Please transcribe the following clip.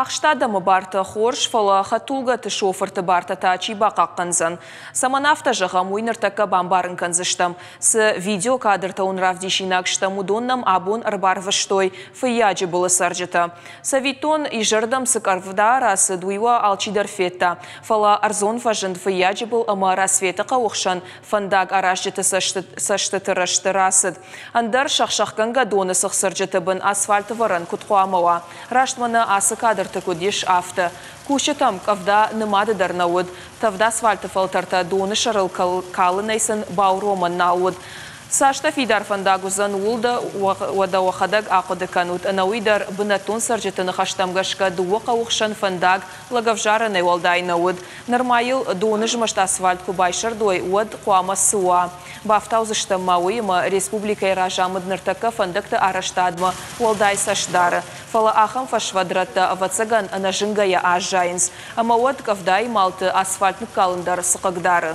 Ахст адӕмы бартӕ хорз, фӕлӕ хӕдтулгӕты шофырты бартӕ та чи бахъахъхъӕндзӕн? Цӕмӕн афтӕ зӕгъӕм, уый ныртӕккӕ бамбарын кӕндзыстӕм. Цы видеокадртӕ уын равдисинаг стӕм, уыдон нӕм абон ӕрбарвыстой Фыййаджыбылы цӕрджытӕ. Цӕвиттон, изӕрдӕм цы къӕвда рацыд, уый уӕ алчидӕр федта. Фӕлӕ ӕрдзон фӕзынд Фыййаджыбыл ӕмӕ Рассветы хъӕуы хсӕн фӕндаг аразджыты цӕстыты рӕзты рацыд. Ӕндӕр сӕхсӕхгӕнгӕ доны цыхцырджыты бын асфальты вӕрӕн куыд хъуамӕ уа? Раст мӕнӕ ацы кадрты куыд ис, афтӕ. Кусджытӕм къӕвда нымады дӕр нӕ уыд. Тӕвд асфальты фӕлтӕртӕ доны сӕрыл калынӕй сын бауромӕн нал уыд. Цастӕ фидар фӕндаг уыдзӕн, ууыл дӕ уӕдӕ уӕхӕдӕг ахъуыды кӕнут. Ӕнӕуый дӕр бынӕттон цӕрджыты ныхӕстӕм гӕсгӕ дыууӕ хъӕуы хсӕн фӕндаг лӕгӕвзарӕнӕй уӕлдай нӕ уыд. Нырма йыл доны змӕст асфальт куы байсӕрдой, уӕд хъуамӕ цы уа? Бафтаудзыстӕм ма уыимӕ, республикӕйы разамынд ныртӕккӕ фӕндӕгты арӕзтадмӕ уӕлдай цӕст дары. Фӕлӕ ахӕм фӕсвӕд рӕттӕ, ӕвӕццӕгӕн, ӕнӕзынгӕйӕ аззайынц. Ӕмӕ уӕд къӕвдайы малты асфальт ныккалын дӕр цы хъыгдары?